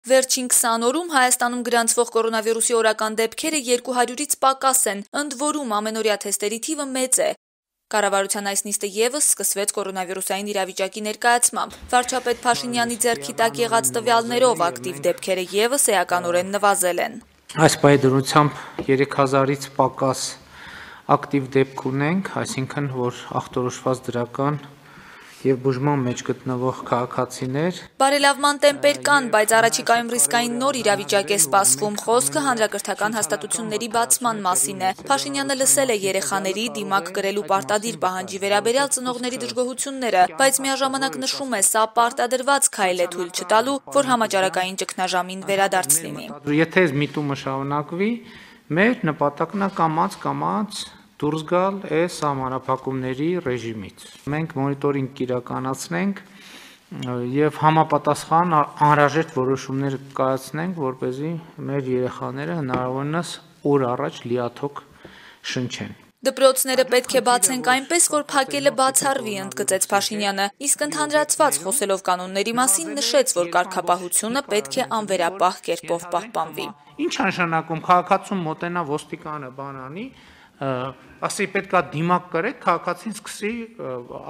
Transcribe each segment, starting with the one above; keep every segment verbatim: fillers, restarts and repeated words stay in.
Վերջին քսան օրում Հայաստանում գրանցվող կորոնավիրուսի օրական դեպքերը երկու հարյուրից պակաս են, ընդ որում ամենօրյա թեստերի թիվը մեծ է։ Կառավարության այս նիստը ևս սկսվեց կորոնավիրուսային իրավիճակի ներկայացմամբ։ Վարչապետ Փաշինյանի ձեռքի տակ եղած տվյալներով ակտիվ դեպքերը ևս էականորեն նվազել են։ Այս պայմանությամբ երեք հազարից պակաս ակտիվ դեպք ունենք, այսինքն որ ախտորոշված դրական եւ բուժման մեջ գտնվող քաղաքացիներ։ Բարելավման տեմպեր կան, բայց առաջիկայում ռիսկային նոր իրավիճակ է սպասվում։ Խոսքը հանրակրթական հաստատությունների բացման մասին է։ Փաշինյանը լսել է երեխաների դիմակ կրելու պարտադիր պահանջի վերաբերյալ ծնողների դժգոհությունները, բայց միաժամանակ նշում է, սա պարտադրված քայլ է թույլ չտալու, որ համաճարակային ճգնաժամին վերադարձ լինի։ Եթե այս միտումը շարունակվի, մեր նպատակն է կամաց կամաց դուրս գալ այս համանախապակումների ռեժիմից։ Մենք մոնիտորինգ կիրականացնենք եւ համապատասխան անհրաժեշտ որոշումներ կայացնենք, որպեսզի մեր երեխաները հնարավորինս օր առաջ լիաթոք շնչեն։ Դպրոցները պետք է բացենք այնպես, որ փակելը բացառվի, ընդգծեց Փաշինյանը, իսկ ընդհանրացված խոսելով կանոնների մասին նշեց, որ կարգապահությունը պետք է անվերապահ կերպով պահպանվի։ Ինչ նշանակում քաղաքացուն մոտենա ոստիկանը բանանի, ասի պետքա դիմակ կրեք, քաղաքացին սկսի,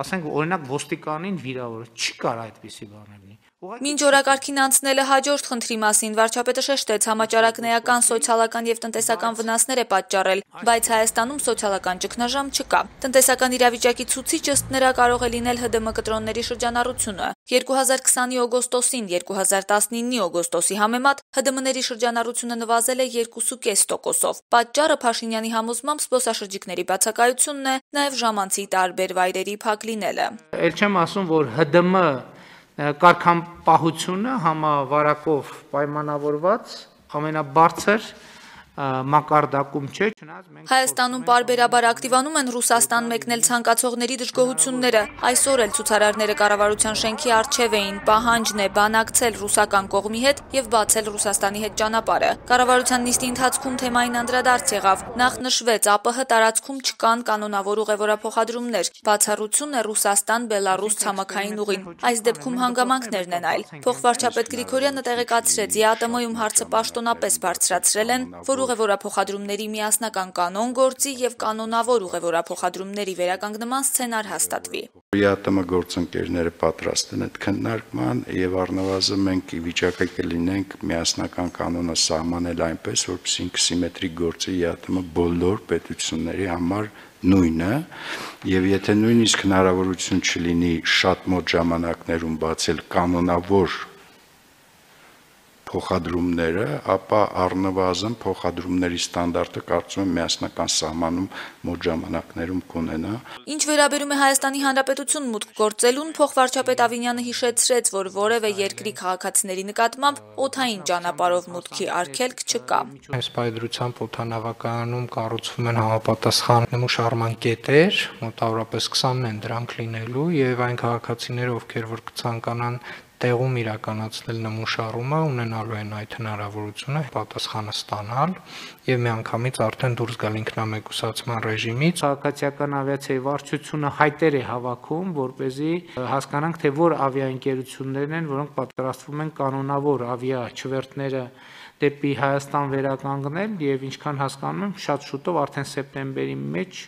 ասենք օրինակ ոստիկանին վիրավորել, չի կարող այդպիսի բան լինի։ Մինչ օրակարգին անցնելը հաջորդ խնդրի մասին վարչապետը շեշտեց, համաճարակն էական, սոցիալական եւ տնտեսական վնասներ է պատճառել, բայց Հայաստանում սոցիալական ճգնաժամ չկա։ Տնտեսական իրավիճակի ցուցիչ ըստ նրա կարող է լինել ՀԴՄ կտրոնների շրջանառությունը։ երկու հազար քսանի օգոստոսին երկու հազար տասնինի օգոստոսի համեմատ ՀԴՄ-ների շրջանառությունը նվազել է երկու կես տոկոսով։ Պատճառը Փաշինյանի համոզմամբ զբոսաշրջիկների բացակայությունն է, նաեւ ժամանցի տարբեր վայրերի փակ լինելը։ Էլ չեմ ասում, որ ՀԴՄ կարգապահությունը համավարակով պայմանավորված ամենաբարձր մակարդակում չէ, չնայած մենք Հայաստանում պարբերաբար ակտիվանում են Ռուսաստան մեկնել ցանկացողների դժգոհությունները։ Այսօր էլ ցուցարարները կառավարության շենքի առջև էին, պահանջն է բանակցել ռուսական կողմի հետ եւ բացել Ռուսաստանի հետ ճանապարհը։ Կառավարության նիստի ընթացքում թեմային անդրադարձ եղավ։ Նախ նշվեց ԱՊՀ տարածքում չկան կանոնավոր ուղևորափոխադրումներ, բացառություն է Ռուսաստան-Բելարուս ցամաքային ուղին։ Այս դեպքում հանգամանքներն են այլ։ Փոխվարչապետ Գրիգորյանը տեղեկացրեց, ԵԱՏՄ-ում հարցը պաշտոնապես բարձրացրել են, որ ուղևորափոխադրումների միասնական կանոն գործի եւ կանոնավոր ուղևորափոխադրումների վերականգնման սցենար հաստատվի։ ԵԱՏՄ գործընկերները պատրաստ են այդ քննարկման եւ առնվազն մենք ի վիճակի կլինենք միասնական կանոնը սահմանել այնպես, որպեսզի սիմետրիկ գործի ԵԱՏՄ բոլոր պետությունների համար նույնը, եւ եթե նույնիսկ հնարավորություն չլինի շատ մոտ ժամանակներում բացել կանոնավոր փոխադրումները, ապա առնվազն փոխադրումների ստանդարտը կարծում եմ միասնական սահմանում մոտ ժամանակներում կունենա։ Ինչ վերաբերում է Հայաստանի Հանրապետություն մուտք գործելուն, փոխվարչապետ Ավինյանը հիշեցրեց, որ որևէ երկրի քաղաքացիների նկատմամբ օդային ճանապարհով մուտքի արգելք չկա։ Այս պայմանությամբ օդանավակայանում կառուցվում են համապատասխան նմուշարման կետեր, մոտավորապես քսանն են դրանք լինելու, եւ այն քաղաքացիները, ովքեր որ կցանկանան տեղում իրականացնել նմուշարումը, ունենալու են այդ հնարավորությունը պատասխանը ստանալ եւ միանգամից արդեն դուրս գալ ինքնամեկուսացման ռեժիմից։ Քաղաքացիական ավիացիայի վարչությունը հայտեր է հավաքում, որպեսզի հասկանանք, թե որ ավիաընկերություններն են, որոնք պատրաստվում են կանոնավոր ավիաչվերթները դեպի Հայաստան վերականգնել եւ ինչքան հասկանում եմ, շատ շուտով արդեն սեպտեմբերի մեջ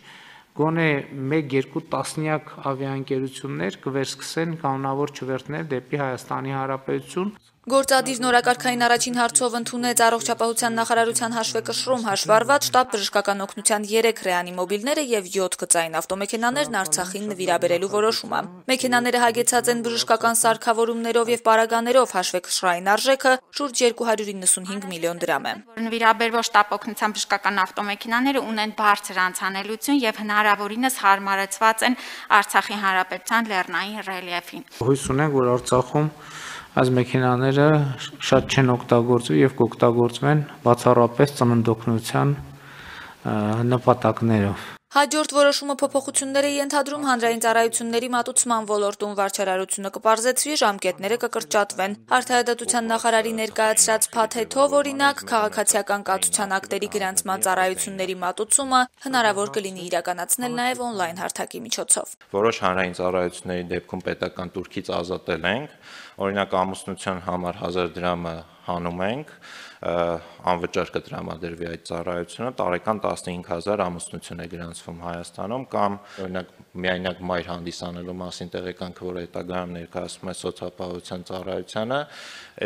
գոնե մեկ-երկու տասնյակ ավիաընկերություններ կվերսկսեն կանոնավոր չվերթներ դեպի Հայաստանի Հանրապետություն։ Գործադիր նորակարգային առաջին հարցով ընդունեց առողջապահության նախարարության հաշվեկշռում հաշվառված շտաբ բժշկական օգնության երեք ռեանիմոբիլները եւ յոթ գծային ավտոմեքենաներն Արցախին նվիրաբերելու որոշումը։ Մեքենաները հագեցած են բժշկական սարքավորումներով եւ պարագաներով, հաշվեկշռային արժեքը շուրջ երկու հարյուր իննսունհինգ միլիոն դրամ է։ Նվիրաբերվող շտաբ օգնության բժշկական ավտոմեքենաները ունեն բարձր անցանելիություն եւ հնարավորինս հարմարեցված են Արցախի Հանրապետության լեռնային ռելիեֆին։ Հույս ունենք, որ Արցախում այս մեքենաները շատ չեն օգտագործվի եւ կօգտագործվեն բացառապես ծննդօգնության նպատակներով։ Հաջորդ որոշումը փոփոխություններ է ենթադրում հանրային ծառայությունների մատուցման ոլորտում, վարչարարությունը կպարզեցվի, ժամկետները կկրճատվեն։ Արդարադատության նախարարի ներկայացրած փաթեթով օրինակ քաղաքացիական կացության ակտերի գրանցման ծառայությունների մատուցումը հնարավոր կլինի իրականացնել նաև օնլայն հարթակի միջոցով։ Որոշ հանրային ծառայությունների դեպքում պետական տուրքից ազատել ենք, Օրինակ ամուսնության համար հազար դրամը հանում ենք, անվճար կտրամադրվի այդ ծառայությունը, տարեկան տասնհինգ հազար ամուսնություն է գրանցվում Հայաստանում, կամ օրինակ միայնակ մայր հանդիսանելու մասին տեղեկանքը, որ հետագայում ներկայացվում է սոցիալապահովության ծառայությանը,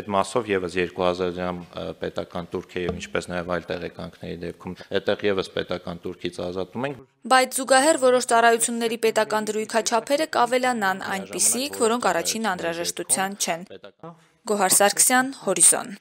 այդ մասով եւս երկու հազար դրամ պետական տուրք է եւ ինչպես նաեւ այլ տեղեկանքների դեպքում այդտեղ եւս պետական տուրքից ազատում ենք։ Բայց զուգահեռ որոշ ծառայությունների պետական դրույքաչափերը կավելանան, այնպիսիք, որոնք առաջին անհրաժեշտության չեն։ Գոհար Սարգսյան, Հորիզոն։